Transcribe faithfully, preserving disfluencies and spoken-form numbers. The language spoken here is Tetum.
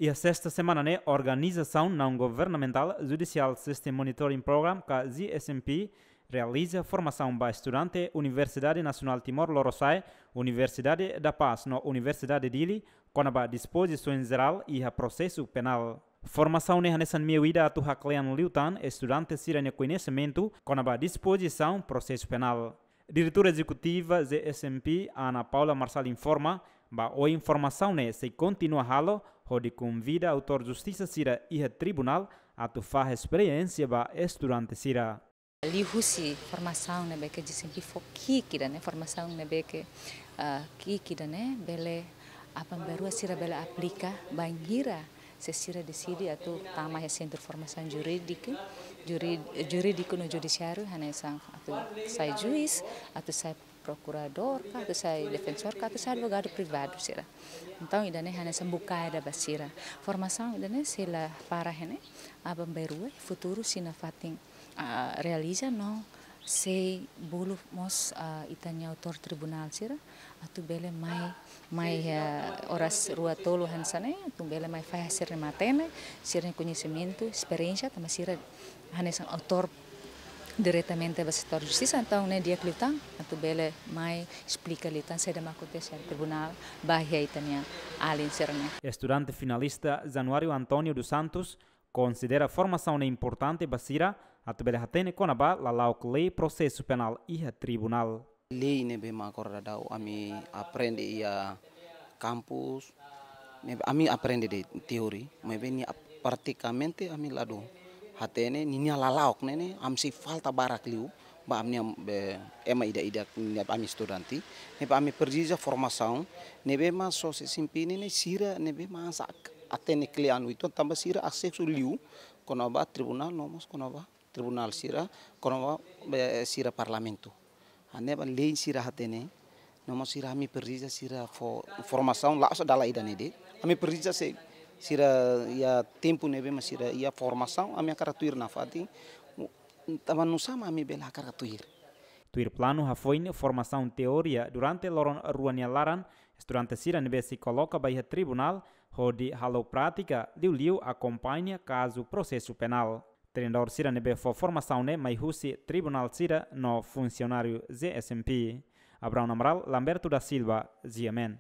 Iha sesta semana ne'e, organizasaun naun-governamentál Judicial System Monitoring Program, ka J S M P, realiza formasaun ba estudante Universidade Nasionál Timor Lorosa'e, Universidade da Paz no Universidade Dili, kona-ba dispozisaun jerál iha prosesu penál. Formasaun ne'e hanesan meiu ida atu haklean liután estudante sira-nia koñesimentu kona-ba dispozisaun prosesu penál. Diretora Ezekutiva J S M P, Ana Paula Marçal, informa ba oin formasaun ne'e sei kontinua halo hodi konvida autór justisa sira iha tribunál atu fahe esperiénsia ba estudante sira. Liuhusi formasaun ne'ebé ke J S M P fó ki'ik ida-ne'e, formasaun ne'ebé ke, ah, ki'ik ida-ne'e bele aban-bainrua sira bele aplika bainhira se sira deside atu tama iha Sentru Formasaun Jurídika, Juri-, Jurídiku no Judisiáriu, hanesan atu sai juís, atu sai prokuradór, ka atu sai defensór, ka atu sai advogadu privadu sira. Entaun, ida-ne'e hanesan bukae ida ba sira. Formasaun ida-ne'e sei la para iha ne'e, aban-bainrua, futuru sei nafatin, ah, realiza no sei bolu mós, ah, ita-nia autór tribunál sira atu bele mai, mai, ah, oras rua tolu hanesan ne'e, atu bele mai fahe sira-nia matenek, sira-nia koñesimentu, esperiénsia, tanba sira hanesan autór diretamente ba setór justisa, entaun ne'e di'ak liután atu bele mai esplika liután saida mak akontese iha tribunál ba iha ita-nia alin sira-ne'e. Estudante finalista Januário António dos Santos konsidera formasaun ne'e importante ba sira atu bele hatene kona-ba lala'ok lei prosesu penál iha tribunál. Lei ne'ebé mak agora daudaun ami aprende iha kampus, ne'ebé ami aprende de'it teori, maibé nia ap-, pratikamente ami ladún hatene ninia lala'ok ne'e, ne'e ami sei falta barak liu ba ami-nia, be, ema ida-idak ne'ebé ami estudante, ne'ebé ami presiza formasaun ne'ebé mak só sei simpini ne'e sira ne'ebé mak sa hatene kle'an uitoan tanba sira asesu liu kona-ba tribunál no mós kona-ba tribunál sira, kona-ba, be, sira parlamentu. Hanesan lei sira hatene, no mós sira ami presiza sira fó formasaun la'ós dala ida-ne'e de'it. Ami presiza se sira iha tempu ne'ebé mak sira iha formasaun, ami hakarak tuir nafatin, tanba nusá mak ami bele hakarak tuir. Tuir planu hafoin formasaun teoria durante loron rua nia laran, estudante sira ne'ebé sei koloka ba iha tribunál hodi halo prátika, liuliu akompaña kazu prosesu penál. Treinadór sira ne'ebé fó formasaun ne'e mai husi tribunál sira no funsionáriu J S M P. Abraão Amaral, Lamberto da Silva, G M N.